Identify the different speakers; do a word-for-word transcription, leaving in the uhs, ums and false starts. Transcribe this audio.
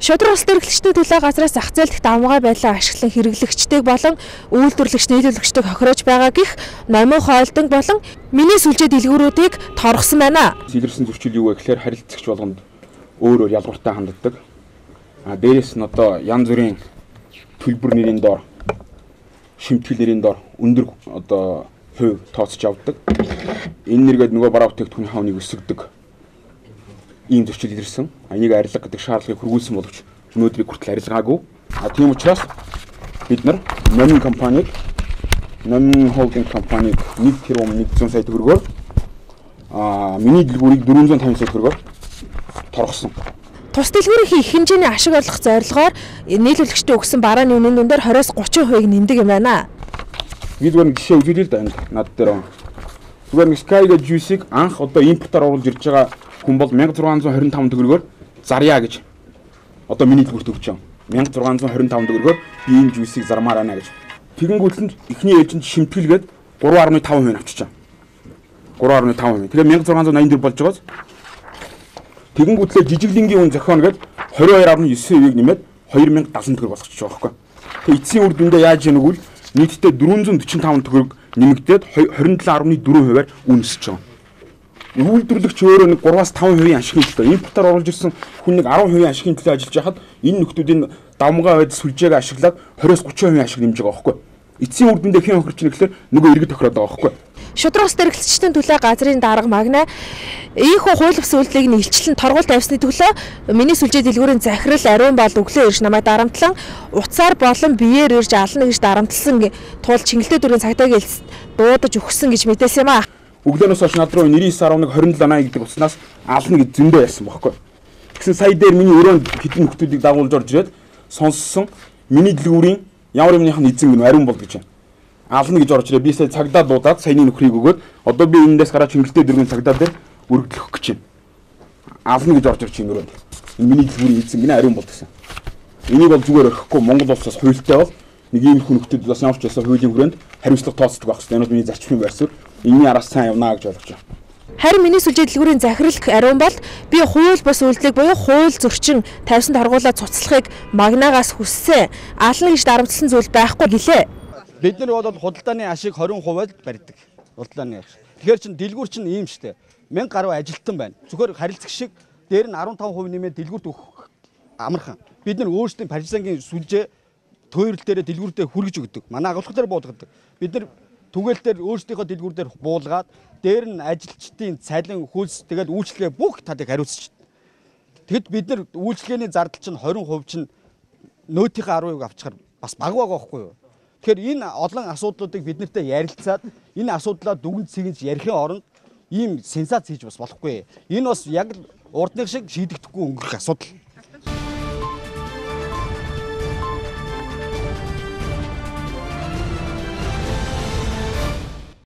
Speaker 1: Шудраг улс төрөлхтөний төлөө газраас зах зээл дэх давмгай байдлаа ашиглан хэрэглэгчдэг болон үйлдвэрлэгч нийлүүлэгчдэг хохироож байгаа гэх номын хоолтон болон миний сүлжээ дэлгүүрүүдийг торгосон байна.
Speaker 2: Илэрсэн зөрчил юу вэ гэхээр харилцагч болгонд өөр өөр ялгууртай ханддаг. А дээрээс нь одоо янз бүрийн төлбөр нэрийн доор шимтгэл нэрийн доор өндөр одоо хувь тооцож авдаг. Энэ нэргээд нөгөө бараа бүтээгдэхүүний хавныг өсгөдөг. Ийм зөрчил илэрсэн. Энийг арилга гэдэг шаардлагыг хүргүүлсэн боловч өнөөдрийг хүртэл арилгаагүй. А тийм учраас бид нар Номин компаниг, Номин холдинг компаниг нэг тэрбум нэг зуун сая төгрөгөөр а миний дэлгүүрийг дөрвөн зуун тавин сая төгрөгөөр торгосон.
Speaker 1: Тус дэлгүүрийн их хэмжээний ашиг орлох зорилгоор нийлүүлэгчдээ өгсөн барааны үнийн дүндээр двадцать тридцать хувийг нэмдэг юм байна.
Speaker 2: Бид гэр жишээ үзүүлээ л да энэ над дээр. Зүгээр нэг Sky-га juice-ийг анх одоо импортоор оруулж ирж байгаа хүн бол мянга зургаан зуун хорин таван төгрөгөөр зарьяа гэж одоо миний дэлгүүрт өгч байгаа. мянга зургаан зуун хорин таван төгрөгөөр би энэ juice-ийг зармаар байна гэж. Тэгэнгүүт нь эхний ээлжинд шимтгэлгээд гурван гаруй таван хувийг авчиж байгаа. гурван гаруй таван хувийг. Тэгээ мянга зургаан зуун аян төгрөг болж байгаас тэгэнгүүтлээ жижиглэнгийн үн зохион гээд двадцать two гаруй нine хувийг нэмээд two thousand seventy төгрөг болгочихж байгаа байхгүй. Тэгээ эцсийн үр дүндээ яаж яах вэ? Нийтдээ four hundred forty-five төгрөг нэмэгдээд twenty-seven point four хувиар үнэсэж байгаа. Үйлдвэрлэгч өөрөө нэг three-аас five хувийн ашигын төлөө импортоор оруулж ирсэн хүн нэг ten хувийн ашигын төлөө ажиллаж байхад энэ нөхдүүдийн давмгай байд сүлжээг ашиглаад twenty-аас thirty хувийн ашиг нэмж байгаа байхгүй. Эцсийн үр дүндээ хэн хохирч нэхлээр нөгөө иргэд тохироод байгаа байхгүй.
Speaker 1: Шудраг улс төрөлхтөний төлөө газрын дарга магна ийхүү хууль бус үйлдэлийг нь илчлэн торгуул тавьсны төлөө миний сүлжээ дэлгүүрийн захирал ариун бол өглөө ирж намайг дарамтлан уцаар болон биеэр ирж ална гэж дарамтлсан тул чингэлтэй дүрийн цагдаагийн элс дуудаж өгсөн гэж мэдээсэн юм аа.
Speaker 2: Өглөөнөөс хойш над руу ninety-nine point two seven гэдэг утснаас ална гэж зөндөө яасан байхгүй. Тэгсэн сая дээр миний өрөөнд хэдэн нөхдүүдийг дагуулж орж ирээд сонссон миний дэлгүүрийн ямар юмных нь эзэн гэнэ ариун бол гэж байна. Ална гэж орж ирээ би сая цагдаа дуудаад саяны нөхрийг өгөөд одоо би энэндээс гараад чингэлтэй дөрвөн цагдаа дээр өргөдлөх гэж байна. Ална гэж орж ирж өрөөнд. Энэ миний дэлгүүрийн эзэн гэнэ ариун бол гэсэн. Энийг бол зүгээр орхихгүй Монгол улсаас хуультай бол нэг ийм хүн нөхдөд бас ямар ч байсан хуулийн хүрээнд хариуцлага тооцдог байх хэрэгтэй. Энэ бол миний зарчмын байр суурь. Энийн араас сайн явнаа гэж ойлгож байна.
Speaker 1: Харин миний сүлжээ дэлгүүрийн захирал ариун бол би хууль бус үйлдэлийг буюу хууль зөрчин тавьсан торгуулаа цуцлахыг магнаагаас хүссэн. Ална гэж дарамтлсан зүйл байхгүй гэлээ.
Speaker 3: Бид нар бол худалдааны ашиг twenty percent барьдаг. Худалдааны ашиг. Тэгэхээр чин дэлгүүр чин ийм штэ. one thousand гаруй ажилтан байна. Зөвхөн харилцагч шиг дээр нь fifteen percent нэмээд дэлгүүрт өгөх амархан. Бид нар өөрсдийн Парижангийн сүлжээ тойрол дээр дэлгүүртээ хүргэж өгдөг. Манай агуулга дээр буулгадаг. Бид нар түгээл дээр өөрсдийнхөө дэлгүүр дээр буулгаад дээр нь ажилчдын цалин хөлс тэгээд үйлчлэгээ бүх талыг хариуцж. Тэгэд бид нар үйлчлэгээний зардал чинь twenty percent чинь нөөтийн ten percent авчихаар бас баг байгаа байхгүй юу? Тэгэхээр энэ олон асуудлуудыг бид нартай ярилцаад энэ асуудлаа дүгнж цэгж ярихын оронд ийм сенсац хийж бас болохгүй. Энэ бас яг урдных шиг шийдэгдэхгүй өнгөрөх асуудал.